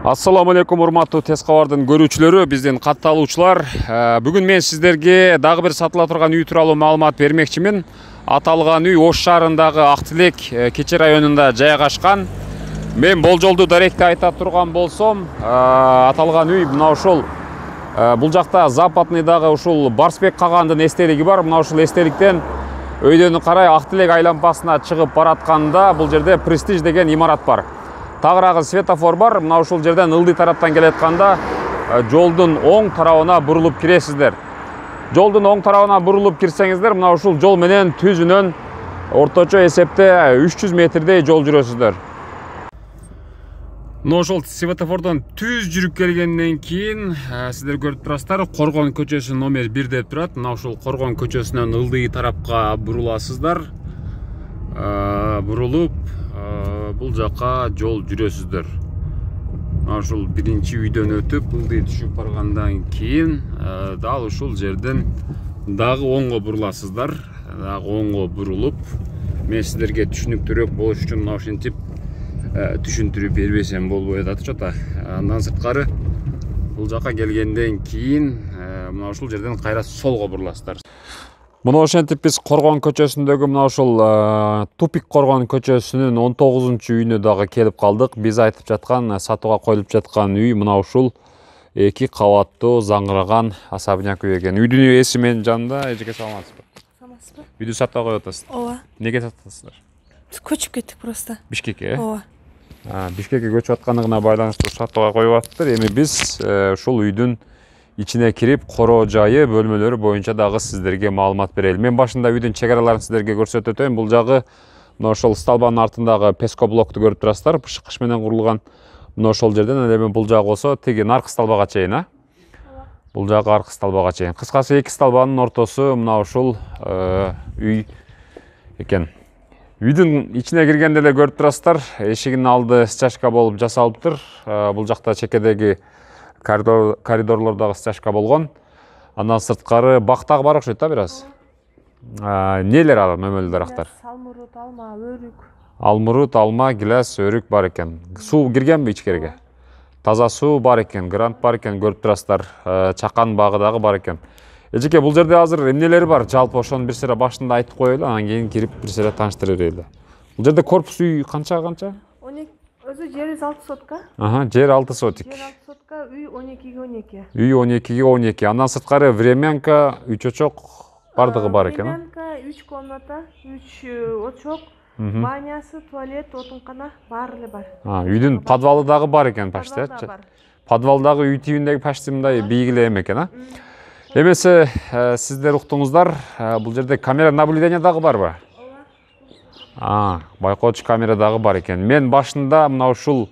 Ассаламу алейкум, урматтуу тез кабардын көрүүчүлөрү, биздин катталуучулар. Бүгүн мен сиздерге дагы бир сатыла турган үй тууралуу маалымат бермекчимин. Аталган үй Ош шаарындагы Ак Тилек Кече районунда жайгашкан. Мен болжолду даректи айта турган болсом, аталган үй мына ушул бул жакта западныйдагы ушул Барсбек кагандын эстелиги бар. Мына ушул эстеликтен өйдөнү карай Ак Тилек айлампасына чыгып баратканда бул жерде Престиж деген имарат бар. Тагыраагы светофор бар. Мына ушул жерден ылдый тараптан келатканда жолдун оң тарабына бурулуп киресиздер. Жолдун оң тарабына бурулуп кирсеңиздер, мына ушул жол менен түзүнөн орточо эсепте 300 метрдей жол жүрөсүздөр. Мына ушул светофордон түз жүрүп келгенден кийин сиздер көрүп турасыздар, Коргон көчөсү номер 1 деп турат. Мына ушул Коргон көчөсүнөн ылдый тарапка буруласыздар. Бурулуп бул жака жол жүрөсүздөр. Ушул биринчи үйдөн өтүп ылдый түшүп баргандан кийин дал ушул жерден дагы оңго буруласыздар. Дагы оңго бурулуп, мен сиздерге түшүнүктүүрөөк болуш үчүн мына ушинтип түшүндүрүп бербесем болбой атат чота. Андан сырткары бул жака келгенден кийин мына ушул жерден кайра солго буруласыздар. Мына ошентип биз Коргон көчөсүндөгү мына ушул Тупик Коргон көчөсүнүн 19-үйүнө дагы келип калдык. Биз айтып жаткан, сатууга коюлуп жаткан үй мына ушул 2 кабаттуу заңгыраган особняк үй экен. Үйдүн ээси менин жанында. Эжеке, саламатсызбы? Саламатсызбы? Үйдү сатууга коюп атасыз? Ооба. Эмнеге сатасыздар? Көчүп кеттик просто. Бишкекке? Ооба. Бишкекке көчүп аткандыгына байланыштуу сатууга коюп атыптыр. Эми биз ушул үйдүн ичине кирип, коро жайы, бөлмөлөрү боюнча дагы сиздерге маалымат берели. Мен башында үйдүн чек араларын сиздерге көрсөтөт өтөйм. Бул жагы мына ошол сталбанын артындагы пескоблокту көрүп турасыздар. Бышкыч менен курулган. Мына ошол жерден эле бул жагы болсо тиги наркы сталбага чейин, Бул жагы аркы сталбага чейин. Кыскасы 2 сталбанын ортосу мына ушул үй экен. Үйдүн ичине киргенде эле көрүп турасыздар, эшигинин алды стяжка болуп жасалыптыр. Бул жакта чекедеги коридорлордагы стяжка болгон. Андан сырткары бактагы бар окшойт да бир аз. Нелер ал мөмөлүү дарактар? Алмурут, алма, өрүк. Алмурут, алма, гилас, өрүк бар экен. Суу киргенби ичкерге? Таза суу бар экен, грант бар экен, көрүп турасыздар. Чакан багы дагы бар экен. Эжеке, бул жерде азыр эмнелери бар? Жалпы ошону бир сыйра башында айтып коелу, анан кийин кирип бир сыйра тааныштыра берели. Бул жерде корпус үй канча? Өзү жери 6 сотка. Жер 6 сотик. Жер 6 сотка, үй 12-ге 12. Үй 12-ге 12. Андан сырткары времянка, 3 очок бардыгы бар экен. Времянка, 3 комната, 3 очок, банясы, туалет, отункана баары эле бар. Үйдүн подвалы дагы бар экен почти. Подвалдагы үй тибиндеги почти мындай бийик эле экен, Эмесе сиздер уктуңуздар, бул жерде камера наблюдения дагы барбы? Байкоочу камера дагы бар экен. Мен башында мына ушул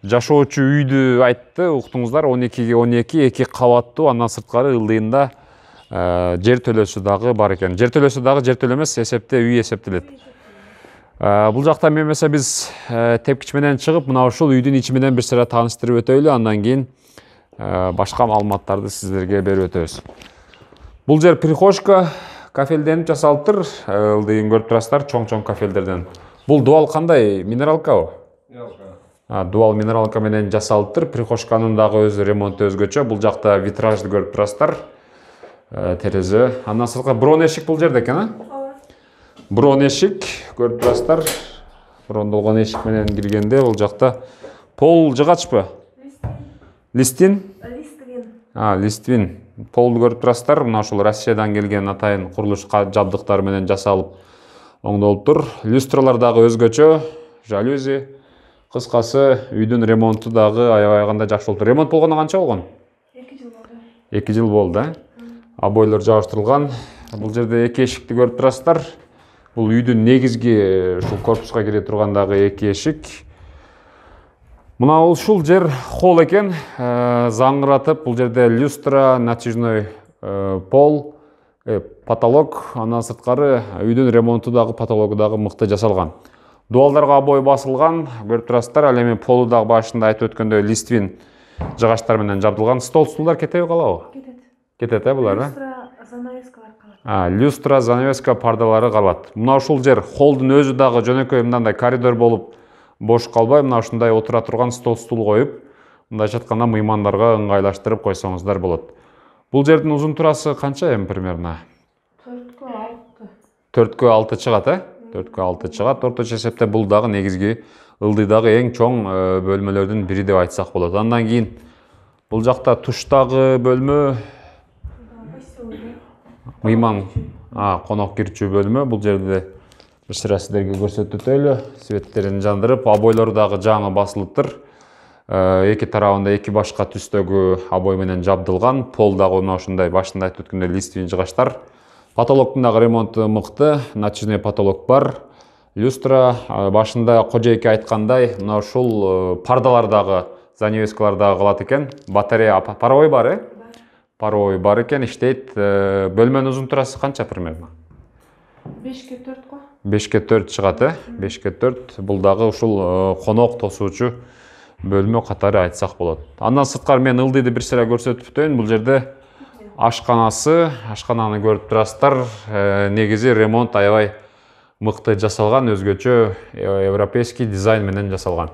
жашоочу үйдү айтты, уктуңуздар, 12-ге 12, 2 кабаттуу, андан сырткары ылдыйында жер төлөөсү дагы бар экен. Жер төлөөсү дагы жер төлөө эмес, эсепте үй эсептелет. Бул жакта эмесе биз тепкич менен чыгып, мына ушул үйдүн ичи менен бир сыйра тааныштырып өтөйлү, андан кийин башка маалыматтарды сиздерге берип өтөбүз. Бул жер прихожка, кафелденип жасалыптыр. Ылдыйын көрүп турасыздар, чоң-чоң кафелдерден. Бул дуал кандай? Минералкабы? Дуал минералка менен жасалыптыр. Прихожканын дагы өз ремонту өзгөчө. Бул жакта витражды көрүп турасыздар. Терезе. Андан сырткары брон эшик бул жерде экен, Брон эшик көрүп турасыздар. Брондолгон эшик менен киргенде бул жакта пол жыгачпы? Листин? Листвин. Полду көрүп турасыздар. Мына ушул Россиядан келген атайын курулуш жабдыктары менен жасалып оңдолуптур. Люстралар дагы өзгөчө, жалюзи. Кыскасы үйдүн ремонту дагы аябай жакшы болуптур. Ремонт болгону канча болгон? 2 жыл болду. 2 жыл болду, Обойлор жабыштырылган. Бул жерде 2 эшикти көрүп турасыздар. Бул үйдүн негизги ушул корпуска кире тургандагы 2 эшик. Мына ушул жер холл экен, заңгыратып, бул жерде люстра, натяжной пол, потолок, андан сырткары үйдүн ремонту дагы, потологу дагы мыкты жасалган. Дуалдарга обой басылган, көрүп турасыздар. Ал эми полу дагы башында айтып өткөндөй листвин жыгачтар менен жабдылган. Стол, стулдар кетеби, калабы? Кетет, булар, Люстра, занавескалар калат. Люстра, занавеска, пардалары калат. Мына ушул жер холдун өзү дагы жөнөкөй мындай коридор болуп бош калбай, мына ушундай отура турган стол, стул коюп, мындайча айтканда мыймандарга ыңгайлаштырып койсоңуздар болот. Бул жердин узун турасы канча эми примерно? 4-6 чыгат, 4-6 чыгат. Орточо эсепте бул дагы негизги ылдыйдагы эң чоң бөлмөлөрдүн бири деп айтсак болот. Андан кийин бул жакта туштагы бөлмө мыйман конок кирчүү бөлмө. Бул жерде бир сыра сиздерге көрсөтүп өтөлү. Светтерин жандырып, обойлору дагы жаңы басылыптыр. Эки тарабында эки башка түстөгү обой менен жабдылган. Пол дагы мына ушундай башында айтып өткөндөй листвин жыгачтар. Потолоктун дагы ремонту мыкты, натяжный потолок бар. Люстра башында кожоэке айткандай, мына ушул пардалар дагы, занавескалар дагы калат экен. Батарея паровой бар, паровой бар экен, иштейт. Бөлмөнүн узун турасы канча примерно? 5-4 го. 5-4 чыгат, 5-4. Бул дагы ушул конок тосуучу бөлмө катары айтсак болот. Андан сырткары мен ылдыйды бир сыра көрсөтүп өтөйүн. Бул жерде ашкананы көрүп турасыздар. Негизи ремонт аябай мыкты жасалган, өзгөчө европейский дизайн менен жасалган.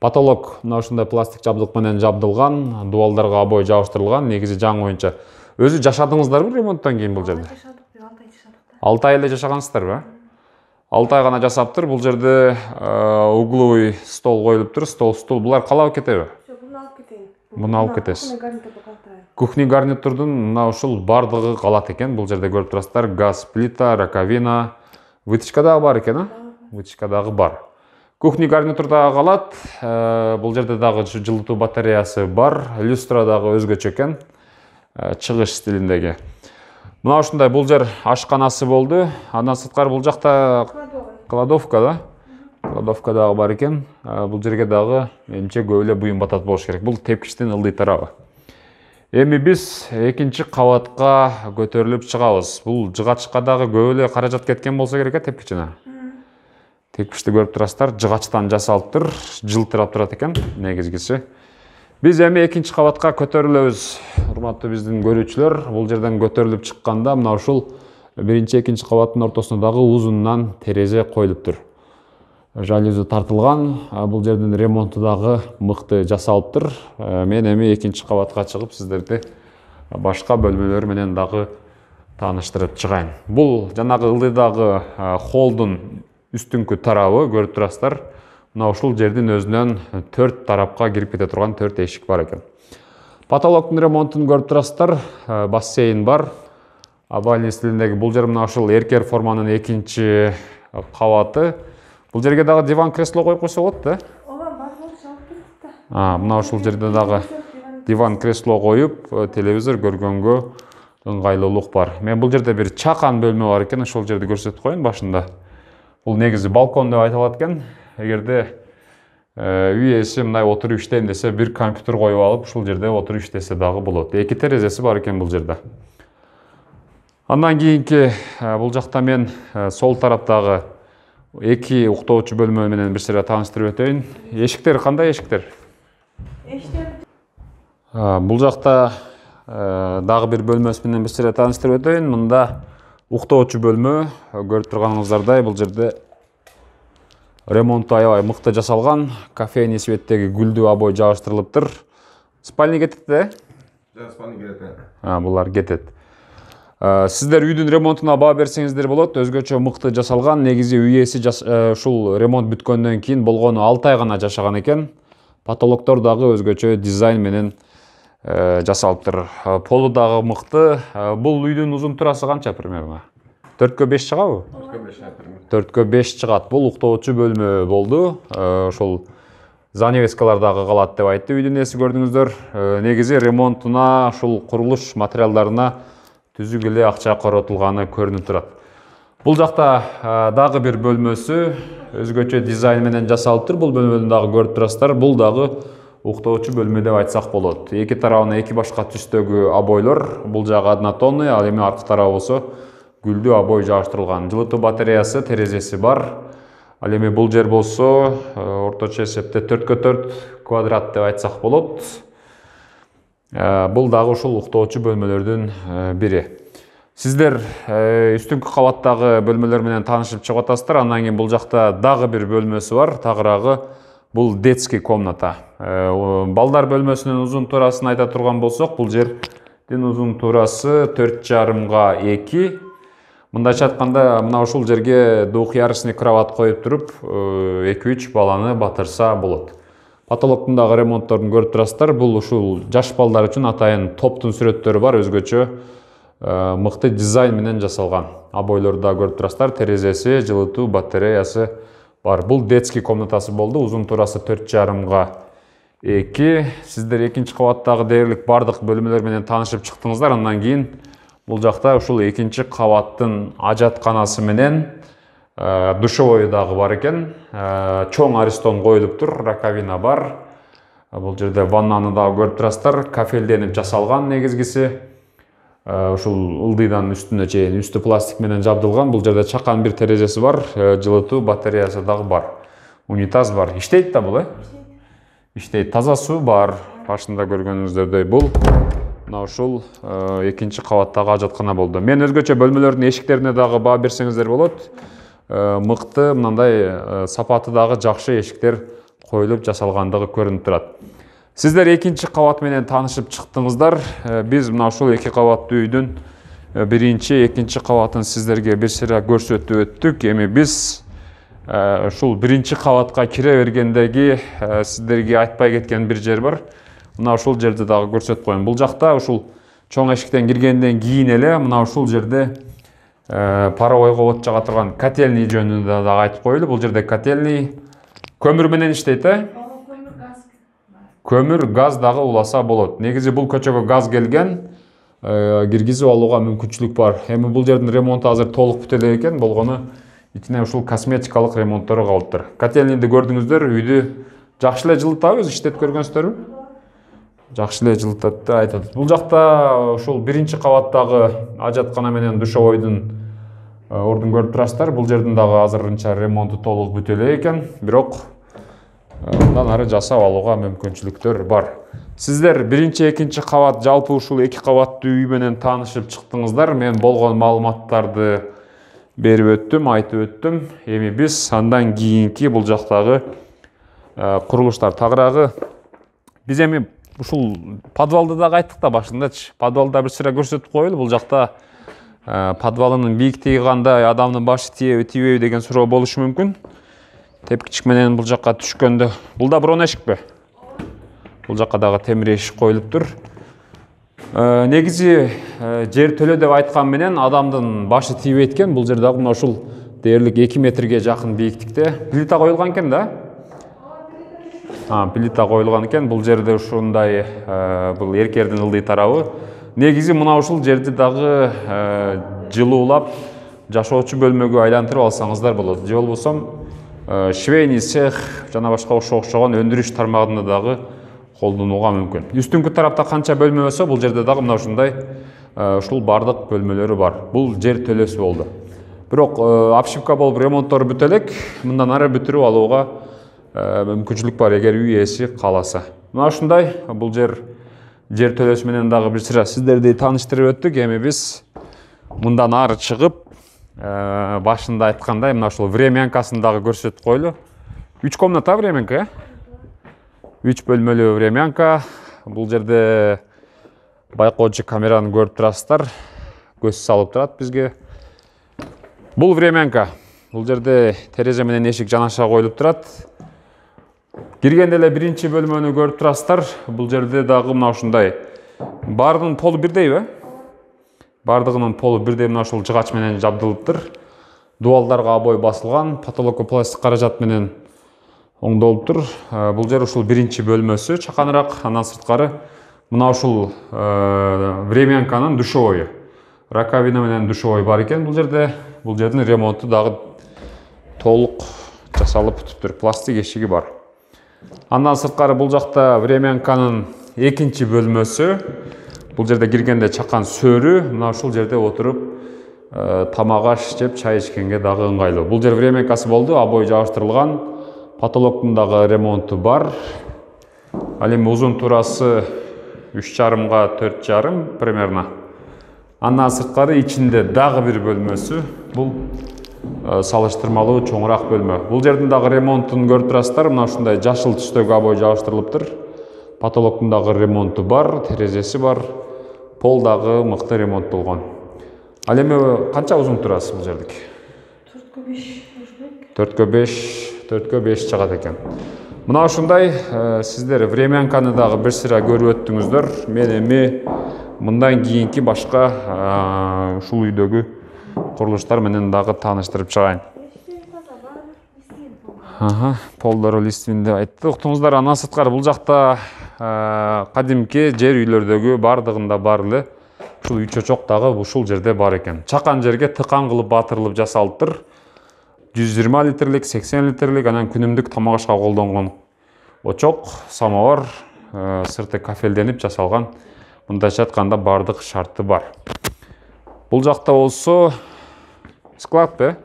Потолок мына ушундай пластик жабдык менен жабдылган, дуалдарга обой жабыштырылган. Негизи жаңы боюнча. Өзү жашадыңыздарбы ремонттон кийин бул жерде? 6 ай эле жашагансыздарбы? 6 ай гана жасаптыр. Бул жерде угловый стол коюлуптур, стол. Булар калап кетеби? Жок, буну алып кетейин. Буну алып кетесиз. Кухня гарнитурдун мына ушул бардыгы калат экен. Бул жерде көрүп турасыздар. Газ плита, раковина, вытяжка дагы бар экен, Вытяжка дагы бар. Кухня гарнитур дагы калат. Бул жерде дагы жылытуу батареясы бар. Люстра дагы өзгөчө экен. Чыгыш стилиндеги. Мына ушундай бул жер ашканасы болду. Андан сырткары бул жакта кладовка да. Кладовка дагы бар экен. Бул жерге дагы менимче көп эле буюм батат болуш керек. Бул тепкичтин ылдый тарабы. Эми биз экинчи кабатка көтөрүлүп чыгабыз. Бул жыгачка дагы көп эле каражат кеткен болсо керек тепкичине. Тепкичти көрүп турасыздар, жыгачтан жасалыптыр, жылтырап турат экен негизгиси. Биз эми экинчи кабатка көтөрүлөбүз. Урматтуу биздин көрүүчүлөр, бул жерден көтөрүлүп чыкканда мына ушул биринчи, экинчи кабаттын ортосуна дагы узундан терезе коюлуптур. Жалюзи тартылган. Бул жердин ремонту дагы мыкты жасалыптыр. Мен эми экинчи кабатка чыгып сиздерди башка бөлмөлөр менен дагы тааныштырып чыгайын. Бул жанагы ылдыйдагы холдун үстүңкү тарабы көрүп турасыздар. Мына ушул жердин өзүнөн 4 тарапка кирип кете турган 4 эшик бар экен. Потолоктун ремонтун көрүп турасыздар. Бассейн бар. Овальный стилиндеги бул жер мына ушул эркер форманын экинчи кабаты. Бул жерге дагы диван кресло коюп койсо болот да? Ооба, бар болуп чыгып кетти. Мына ушул жерде дагы диван кресло коюп, телевизор көргөнгө ыңгайлуулук бар. Мен бул жерде бир чакан бөлмө бар экен, ошол жерди көрсөтүп коеюн башында. Бул негизи балкон деп айтылат экен. Эгерде үй ээси мындай отуруп иштейм десе, бир компьютер коюп алып, ушул жерде отуруп иштесе дагы болот. Эки терезеси бар экен бул жерде. Андан кийинки бул жакта мен сол тараптагы эки уктоочу бөлмө менен бир сыра тааныштырып өтөйүн. Эшиктер кандай эшиктер? Бул жакта дагы бир бөлмөсү менен бир сыра тааныштырып өтөйүн. Мында уктоочу бөлмө, көрүп турганыңыздардай бул жерде ремонту аябай мыкты жасалган. Кофейный светтеги гүлдүү обой жабыштырылыптыр. Спальня кетет да? Жок, спальня кетет. Булар кетет. Сиздер үйдүн ремонтуна баа берсеңиздер болот. Өзгөчө мыкты жасалган. Негизи үй ээси ушул ремонт бүткөндөн кийин болгону 6 ай гана жашаган экен. Потолоктор дагы өзгөчө дизайн менен жасалыптыр. Полу дагы мыкты. Бул үйдүн узун турасы канча примерно? 4-5 чыгабы? 4-5 чыгат. Бул уктоочу бөлмө болду. Ошол занавескалар дагы калат деп айтты үйдүн ээси, көрдүңүздөр. Негизи ремонтуна, ушул курулуш материалдарына түзүк эле акча коротулганы көрүнүп турат. Бул жакта дагы бир бөлмөсү өзгөчө дизайн менен жасалыптыр. Бул бөлмөнү дагы көрүп турасыздар. Бул дагы уктоочу бөлмө деп айтсак болот. Эки тарабына эки башка түстөгү обойлор. Бул жагы однотонный, ал эми аркы тарабы болсо гүлдүү обой жабыштырылган. Жылытуу батареясы, терезеси бар. Ал эми бул жер болсо орточо эсепте 4x4 квадрат деп айтсак болот. Бул дагы ушул уктоочу бөлмөлөрдүн бири. Сиздер үстүңкү кабаттагы бөлмөлөр менен таанышып чыгып атасыздар. Андан кийин бул жакта дагы бир бөлмөсү бар. Тагыраагы Бул детский комната. Балдар бөлмөсүнүн узун туурасын айта турган болсок, бул жердин узун туурасы 4,5 × 2. Мындайча айтканда, мына ушул жерге двухъярусный кровать коюп туруп, 2-3 баланы батырса болот. Потолоктун дагы ремонтторун көрүп турасыздар. Бул ушул жаш балдар үчүн атайын топтун сүрөттөрү бар, өзгөчө мыкты дизайн менен жасалган. Обойлорду да көрүп турасыздар, терезеси, жылытуу, батареясы бар. Бул детский комнатасы болду. Узун туурасы 4,5 × 2. Сиздер экинчи кабаттагы дээрлик бардык бөлмөлөр менен таанышып чыктыңыздар. Андан кийин бул жакта ушул экинчи кабаттын ажатканасы менен душевой дагы бар экен. Чоң аристон коюлуптур, раковина бар. Бул жерде ваннаны дагы көрүп турасыздар. Кафелденип жасалган негизгиси. Ушул ылдыйдан үстүнө чейин үстү пластик менен жабдылган. Бул жерде чакан бир терезеси бар, жылытуу, батареясы дагы бар. Унитаз бар. Иштейт да бул, Иштейт. Таза суу бар. Башында көргөнүңүздөрдөй бул мына ушул экинчи кабаттагы ажаткана болду. Мен өзгөчө бөлмөлөрдүн эшиктерине дагы баа берсеңиздер болот. Мыкты, мындай сапаты дагы жакшы эшиктер коюлуп жасалгандыгы көрүнүп турат. Сиздер экинчи кабат менен таанышып чыктыңыздар. Биз мына ушул эки кабаттуу үйдүн биринчи, экинчи кабатын сиздерге бир сыйра көрсөтүп өттүк. Эми биз ушул биринчи кабатка кире бергендеги сиздерге айтпай кеткен бир жер бар. Мына ушул жерди дагы көрсөтүп коеюн. Бул жакта ушул чоң эшиктен киргенден кийин эле мына ушул жерде паровойго от жага турган котельный жөнүндө дагы айтып коелу. Бул жерде котельный көмүр менен иштейт, Көмүр, газ дагы уласа болот. Негизи бул көчөгө газ келген, киргизип алууга мүмкүнчүлүк бар. Эми бул жердин ремонту азыр толук бүтө элек экен, болгону ичине ушул косметикалык ремонттору калыптыр. Котельныйды көрдүңүздөр, үйдү жакшы эле жылытабыз, иштетип көргөнсүздарбы? Жакшы эле жылытат деп айтат. Бул жакта ушул биринчи кабаттагы ажаткана менен душевойдун ордун көрүп турасыздар. Бул жердин дагы азырынча ремонту толук бүтө элек экен, бирок мындан ары жасап алууга мүмкүнчүлүктөр бар. Сиздер биринчи, экинчи кабат, жалпы ушул эки кабаттуу үй менен таанышып чыктыңыздар. Мен болгон маалыматтарды берип өттүм, айтып өттүм. Эми биз андан кийинки бул жактагы курулуштар тагыраагы биз эми ушул подвалды дагы айттык да башындачы. Подвалда бир сыра көрсөтүп коелу. Бул жакта подвалынын бийиктиги кандай, адамдын башы тийеби, тийбейби деген суроо болушу мүмкүн. Тепкичик менен бул жакка түшкөндө, бул да бирон эшикпи? Бул жакка дагы темир эшик коюлуптур. Негизи жер төлө деп айткан менен адамдын башы тийбейт экен. Бул жер дагы мына ушул дээрлик 2 метрге жакын бийиктикте. Плита коюлган экен да? Плита коюлган экен. Бул жерде ушундай бул эркердин ылдый тарабы. Негизи мына ушул жерди дагы жылуулап жашоочу бөлмөгө айлантырып алсаңыздар болот. Же болбосо швейный цех жана башка окшогон өндүрүш тармагында дагы колдонууга мүмкүн. Үстүңкү тарапта канча бөлмө болсо, бул жерде дагы мына ушундай ушул бардык бөлмөлөрү бар. Бул жер төлөсү болду. Бирок обшивка болуп ремонттору бүтө элек, мындан ары бүтүрүп алууга мүмкүнчүлүк бар эгер үй ээси кааласа. Мына ушундай бул жер төлөсү менен дагы бир сыра сиздерди тааныштырып өттүк. Эми биз мындан ары чыгып башында айткандай мына ушул времянкасын дагы көрсөтүп коелу. 3 комната времянка, 3 бөлмөлүү времянка. Бул жерде байкоочу камераны көрүп турасыздар. Көз салып турат бизге. Бул времянка. Бул жерде терезе менен эшик жанаша коюлуп турат. Киргенде эле биринчи бөлмөнү көрүп турасыздар. Бул жерде дагы мына ушундай бардын полу бирдейби? Бардыгынын полу бирдей мына ушул жыгач менен жабдылыптыр. Дуалдарга обой басылган, потолокко пластик каражат менен оңдолуптур. Бул жер ушул биринчи бөлмөсү, чаканыраак. Андан сырткары мына ушул времянканын душевойу. Раковина менен душевой бар экен бул жерде. Бул жердин ремонту дагы толук жасалып бүтүптүр. Пластик эшиги бар. Андан сырткары бул жакта времянканын экинчи бөлмөсү. Бул жерде киргенде чакан сөрү, мына ушул жерде отуруп тамак аш жеп, чай ичкенге дагы ыңгайлуу. Бул жер времянкасы болду, обой жабыштырылган, потолоктун дагы ремонту бар. Ал эми узун туурасы 3,5 × 4,5 примерно. Андан сырткары ичинде дагы бир бөлмөсү. Бул салыштырмалуу чоңураак бөлмө. Бул жердин дагы ремонтун көрүп турасыздар. Мына ушундай жашыл түстөгү обой жабыштырылыптыр. Потолоктун дагы ремонту бар, терезеси бар. Пол дагы мыкты ремонттолгон. Ал эми канча узун турасыз бул жердик? 4г 5 чыгат экен. Мына ушундай сиздер времянканы дагы бир сыра көрүп өттүңүздөр. Мен эми мындан кийинки башка ушул үйдөгү курулуштар менен дагы тааныштырып чыгайын. Полдору листвин деп айтты. Уктуңуздар, андан сырткары бул жакта кадимки жер үйлөрдөгү бардыгында бар эле ушул үй чочок дагы ушул жерде бар экен. Чакан жерге тыкан кылып батырылып жасалыптыр. 120 литрлик, 80 литрлик, анан күнүмдүк тамак ашка колдонгон очок, самовар, сырты кафелденип жасалган. Мындайча айтканда бардык шарты бар. Бул жакта болсо склад бе?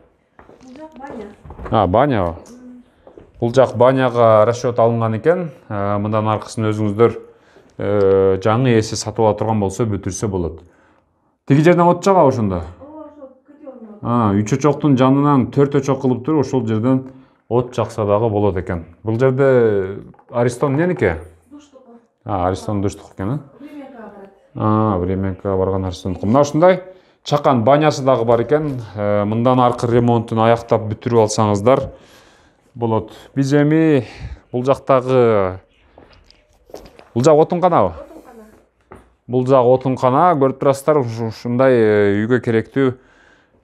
Бул жак баня. Баня. Бул жак баняга расчет алынган экен. Мындан аркысын өзүңүздөр жаңы ээси сатып ала турган болсо бүтүрсө болот. Тиги жерден от жагабы ошондо? Үй чочоктун жанынан 4 очок кылып туруп ошол жерден от жакса дагы болот экен. Бул жерде Аристон эмненики? Душтук. Аристон душтук экен, Времянкага барат. Времянкага барган Аристондук. Мына ушундай чакан банясы дагы бар экен. Мындан аркы ремонтун аяктап бүтүрүп алсаңыздар болот. Биз эми бул жактагы жак отунканабы? Бул жак отункана, көрүп турасыздар, ушундай үйгө керектүү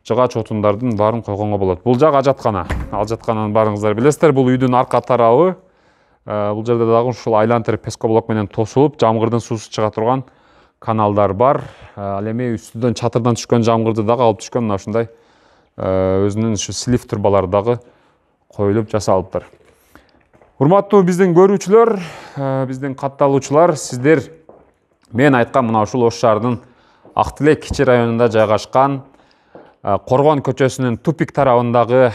жыгач отундардын баарын койгонго болот. Бул жак ажаткана. Ажаткананы баарыңыздар билесиздер. Бул үйдүн арка тарабы. Бул жерде дагы ушул айлантыр пескоблок менен тосулуп, жамгырдын суусу чыга турган каналдар бар. Ал эми үстүдөн чатырдан түшкөн жамгырды дагы алып түшкөн мына ушундай өзүнүн ушу слив турбалары дагы коюлуп жасалыптыр. Урматтуу биздин көрүүчүлөр, биздин катталуучулар, сиздер мен айткан мына ушул Ош шаарынын Ак Тилек кичи районунда жайгашкан Коргон көчөсүнүн тупик тарабындагы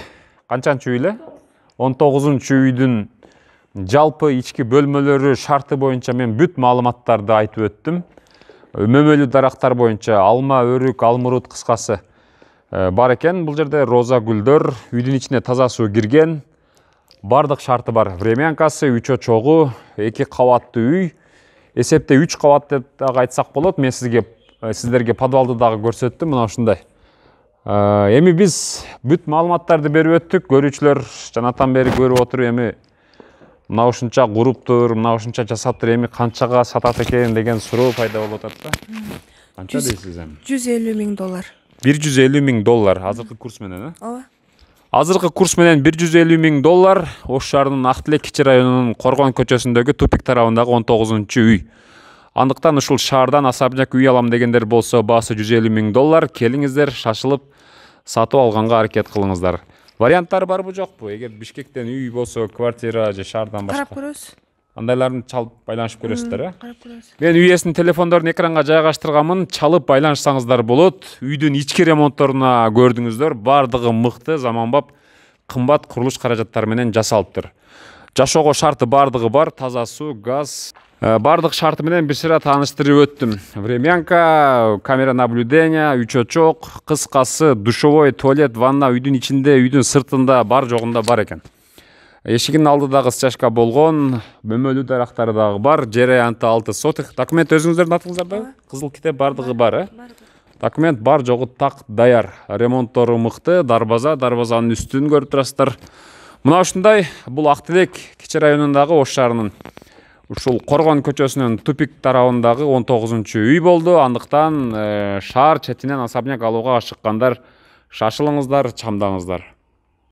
канчанчы үй эле? 19-чу үйдүн жалпы ички бөлмөлөрү шарты боюнча мен бүт маалыматтарды айтып өттүм. Мөмөлүү дарактар боюнча алма, өрүк, алмурут кыскасы бар экен. Бул жерде роза гүлдөр, үйдүн ичине таза суу кирген. Бардык шарты бар. Времянкасы, үй чочогу, 2 кабаттуу үй. Эсепте 3 кабат деп дагы айтсак болот. Мен сиздерге подвалды дагы көрсөттүм. Мына ушундай. Эми биз бүт маалыматтарды берип өттүк. Көрүүчүлөр жанатан бери көрүп отуруп эми мына ушунча куруптур, мына ушунча жасаптыр, эми канчага сатат экен деген суроо пайда болуп атат да. Канча дейсиз эми? $150,000. $150,000 азыркы курс менен, Ооба. Азыркы курс менен $150,000 Ош шаарынын Ак Тилек кичи районунун Коргон көчөсүндөгү тупик тарабындагы 19-чу үй. Андыктан ушул шаардан особняк үй алам дегендер болсо баасы $150,000. Келиңиздер, шашылып сатып алганга аракет кылыңыздар. Варианттары барбы жокпу? Эгер Бишкектен үй болсо, квартира же шаардан башка. Карап көрөбүз. Андайларын чалып байланышып көрөсүздөр, Карап көрөбүз. Мен үй ээсинин телефондорун экранга жайгаштырганмын. Чалып байланышсаңыздар болот. Үйдүн ички ремонтторуна көрдүңүздөр. Бардыгы мыкты, заманбап, кымбат курулуш каражаттары менен жасалыптыр. Жашоого шарты бардыгы бар, таза суу, газ. Бардык шарты менен бир сыра тааныштырып өттүм. Времянка, камера наблюдения, үй чочок, кыскасы, душевой, туалет, ванна үйдүн ичинде, үйдүн сыртында бар жогунда бар экен. Эшигинин алдыдагы стяжка болгон, мөмөлүү дарактары дагы бар, жер аянты 6 сотых. Документ өзүңүздөрдүн атыңыздарда? Кызыл китеп бардыгы бар, Документ бар жогу так даяр. Ремонттору мыкты, дарбазанын үстүн көрүп турасыздар. Мына ушундай, бул Ак Тилек кичи районундагы Ош шаарынын ушул Коргон көчөсүнүн тупик тарабындагы 19-чу үй болду. Андыктан шаар четинен особняк алууга ашыккандар шашылыңыздар, чамдаңыздар.